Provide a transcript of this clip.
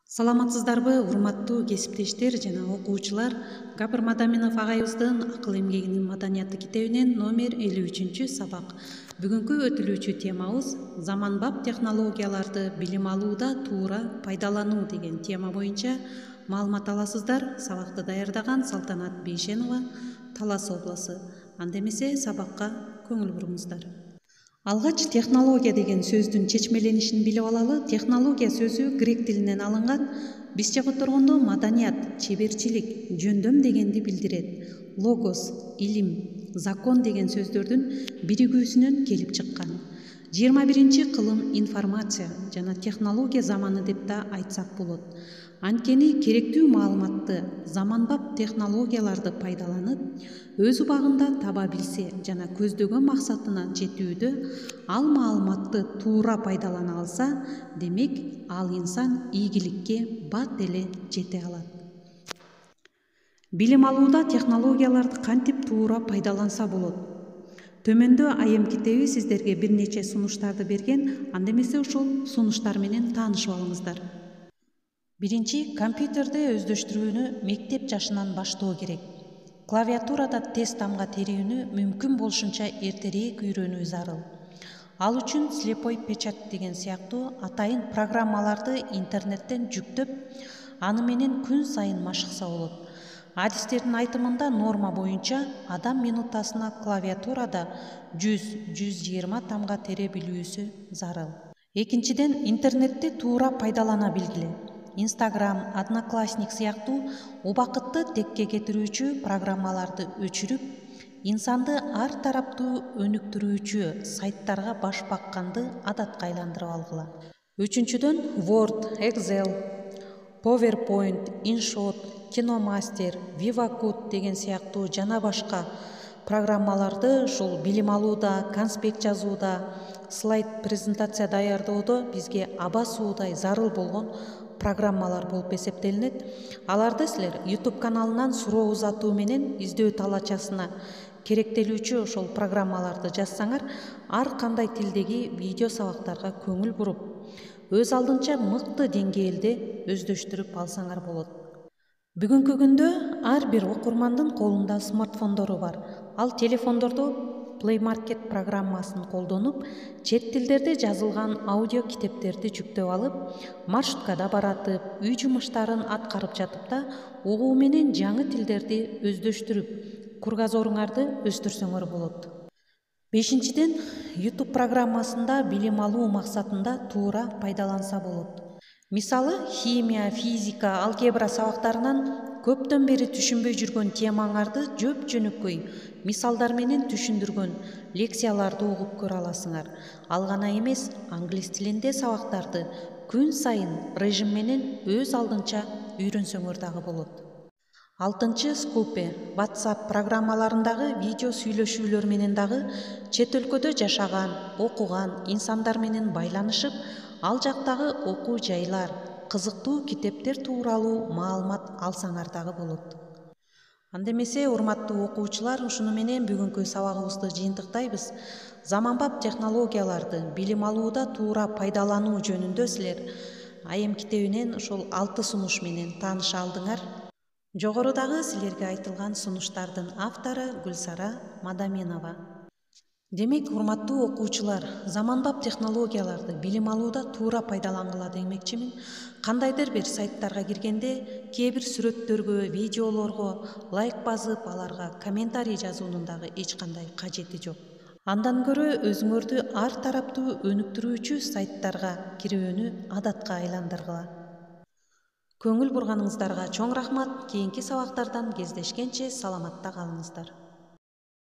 Саламатсыздарбы, урматтуу кесиптештер жана окуучулар. Гапыр Мадаминов агайыбыздын Акыл эмгегинин маданияты китебинен номер 53 сабак. Бүгүнкү өтүлүүчү темабыз заманбап технологияларды билим алууда туура пайдалануу деген тема боюнча маалымат аласыздар. Сабакты даярдаган Салтанат Бейшенова, Талас обласу. Анда эмесе сабакка көңүл буруңуздар. Алгач технология деген сөздүн чечмеленишин билип алалы. Технология сөзү грек тилинен алынган. Бизче которгондо маданият, чеберчилик, жөндөм дегенди билдирет. Логос, илим, закон деген сөздөрдүн биригүүсүнөн келип чыккан. 21-кылым информация жана технология заманы деп да айтсак болот. Анткени керектүү маалыматты заманбап технологияларды пайдаланып, өз убагында таба билсе жана көздөгөн максатына жетүүдө ал маалыматты туура пайдалана алса, демек ал инсан ийгиликке бат эле жете алат. Билим алууда технологияларды кантип туура пайдаланса болот? Төмөндө айым китеби сиздерге бир нече сунуштарды берген. Анда эмесе ошол сунуштар менен таанышып алыңыздар. Биринчи, компьютерде өздөштүрүүнү мектеп жашынан баштоо керек. Клавиатурада тез тамга терүүнү мүмкүн болушунча эртерээк үйрөнүү зарыл. Ал үчүн слепой печать деген сыяктуу атайын программаларды интернеттен жүктөп, аны менен күн сайын машыкса болот. Адистердин айтымында норма боюнча адам минутасына клавиатурада 100-120 тамга тере билүүсү зарыл. Экинчиден, интернетти туура пайдалана билгиле. Instagram, Одноклассник сыяктуу убакытты текке кетирүүчү программаларды өчүрүп, инсанды ар тараптуу өнүктүрүүчү сайттарга баш бакканды адатка айландырып алгыла. Үчүнчүдөн, Word, Excel, PowerPoint, InShot, KinoMaster, VivaCode деген сыяктуу жана башка программаларды ушул билим алууда, конспект жазууда, слайд презентация даярдоодо бизге аба суудай зарыл болгон программалар болуп эсептелинет. Аларды силер YouTube каналынан суроо узатуу менен издөө талачасына керектелүүчү ошол программаларды жазсаңар, ар кандай тилдеги видео сабактарга көңүл буруп, өз алдынча мыкты деңгээлде өздөштүрүп алсаңар болот. Бүгүнкү күндө ар бир окурмандын колунда смартфондору бар. Ал телефондордо Play Market программасын колдонуп, чет тилдерде жазылган аудио китептерди жүктөп алып, маршруткада баратып, үй жумуштарын аткарып жатып угуу менен жаңы тилдерди өздөштүрүп, кругозоруңарды өстүрсөңөр болот. Бешинчиден, YouTube программасында билим алуу максатында туура пайдаланса болот. Мисалы, химия, физика, алгебра сабактарынан көптөн бери түшүнбөй жүргөн темаңарды жөп-жөнөкөй мисалдар менен түшүндүргөн лекцияларды угуп көрө аласыңар. Ал гана эмес, англис тилинде сабактарды күн сайын режим менен өз алдынча үйрөнсөңөр дагы болот. Алтынчы, Скупе, WhatsApp программаларындагы видео сүйлөшүүлөр менен дагы чет өлкөдө жашаган, окуган инсандар менен байланышып, ал жактагы окуу жайлар, кызыктуу китептер тууралуу маалымат алсаңар дагы болот. Анда эмесе, урматтуу окуучулар, ушуну менен бүгүнкү сабагыбызды жыйынтыктайбыз. Заманбап технологияларды билим алууда туура пайдалануу жөнүндө силер айым китебинен ошол 6 сунуш менен тааныша алдыңар. Жогорудагы силерге айтылган сунуштардын автору Гүлсара Мадаминова. Демек, урматтуу окуучулар, заманбап технологияларды билим алууда туура пайдалангыла демекчимин. Кандайдыр бир сайттарга киргенде, кээ бир сүрөттөргө, видеолорго лайк басып, аларга комментарий жазуунун дагы эч кандай кажети жок. Андан көрө өзүңөрдү ар тараптуу өнүктүрүүчү сайттарга кирүүнү адатка айландыргыла. Көңүл бурганыңыздарга чоң рахмат. Кийинки сабактардан кездешкенче саламатта калыңыздар.